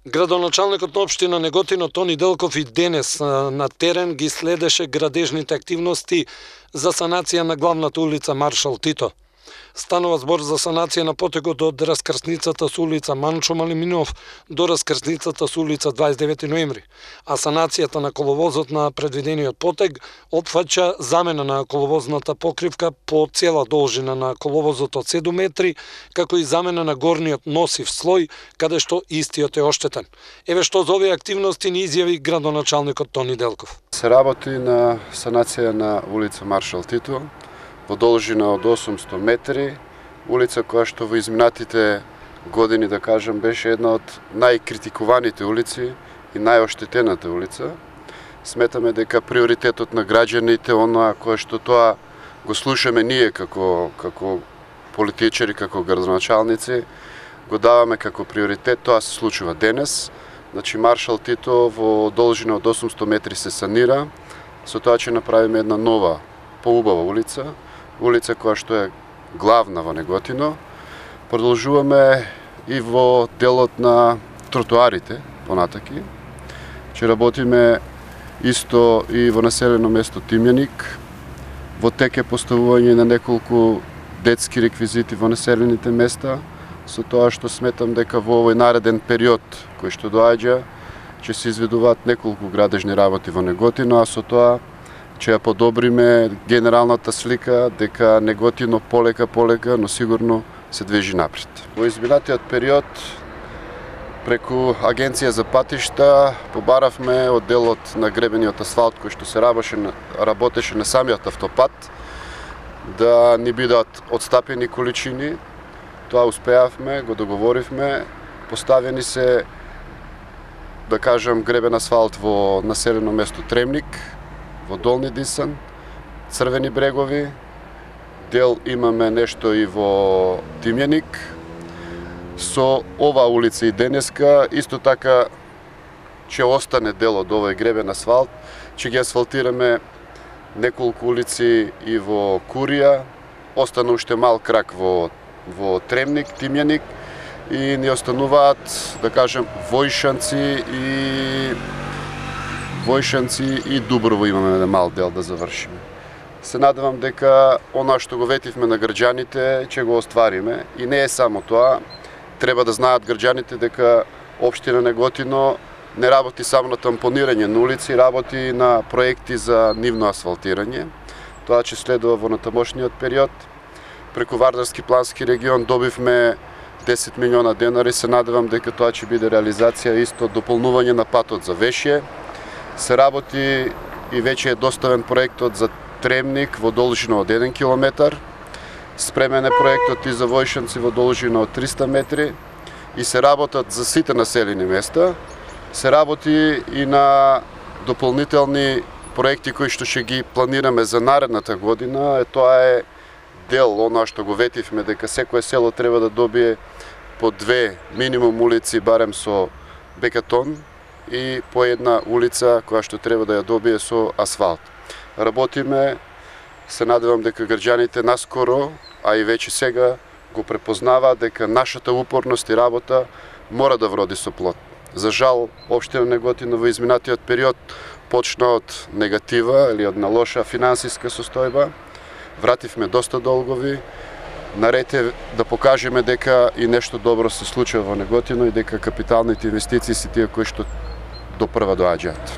Градоначалникот на општина Неготино Тони Делков и денес на терен ги следеше градежните активности за санација на главната улица Маршал Тито. Станува збор за санација на потегот од раскрсницата со улица Манчо Малиминов до раскрсницата со улица 29 ноември, а санацијата на коловозот на предвидениот потег опфаќа замена на коловозната покривка по цела должина на коловозот од 7 метри, како и замена на горниот носив слој, каде што истиот е оштетен. Еве што за овие активности ни изјави градоначалникот Тони Делков. Се работи на санација на улица Маршал Тито, во должина од 800 метри, улица која што во изминатите години, да кажам, беше една од најкритикуваните улици и најоштетената улица. Сметаме дека приоритетот на граѓаните, оноа кое што тоа го слушаме ние како политичари, како градоначалници, го даваме како приоритет, тоа се случува денес. Значи Маршал Тито во должина од 800 метри се санира, со тоа ќе направиме една нова, поубава улица која што е главна во Неготино. Продолжуваме и во делот на тротоарите понатаки. Ќе работиме исто и во населено место Тимјаник. Во тек е поставување на неколку детски реквизити во населените места, со тоа што сметам дека во овој нареден период кој што доаѓа ќе се изведуваат неколку градежни работи во Неготино, а со тоа ќе ја подобриме генералната слика дека Неготино полека, но сигурно се движи напред. Во изминатиот период, преку Агенција за патишта, побаравме од делот на гребениот асфалт кој што се работеше на самиот автопат, да ни бидат отстапени количини. Тоа успеавме, го договоривме, поставени се, да кажам, гребен асфалт во населено место Тремник, во Долни Дисан, Црвени брегови, дел имаме нешто и во Тимјаник. Со ова улица и денеска, исто така ќе остане дел од овој гребен асфалт, ќе ги асфалтираме неколку улици и во Курија, остана уште мал крак во Тремник, Тимјаник, и ни остануваат, да кажем, Војшанци и Дуброво имаме на мал дел да завршиме. Се надевам дека она што го ветивме на граѓаните ќе го оствариме, и не е само тоа. Треба да знаат граѓаните дека општина Неготино не работи само на тампонирање на улици, работи на проекти за нивно асфалтирање. Тоа ќе следува во натамошниот период. Преку Вардарски плански регион добивме 10 милиона денари, се надевам дека тоа ќе биде реализација исто дополнување на патот за Вешје. Се работи и веќе е доставен проектот за Тремник во должина од 1 километар. Спремен е проектот и за Војшанци во должина од 300 метри и се работат за сите населени места. Се работи и на дополнителни проекти кои што ќе ги планираме за наредната година. Тоа е дел оноа што го ветивме дека секое село треба да добие по 2 минимум улици барем со бекатон и по една улица која што треба да ја добие со асфалт. Работиме, се надевам дека граѓаните наскоро, а и веќе сега го препознаваат дека нашата упорност и работа мора да вроди со плод. За жал, општина Неготино во изминатиот период почна од негатива или од на лоша финансиска состојба. Вративме доста долгови. Наред е да покажеме дека и нешто добро се случува во Неготино и дека капиталните инвестиции се тие кои што допрва доаѓаат.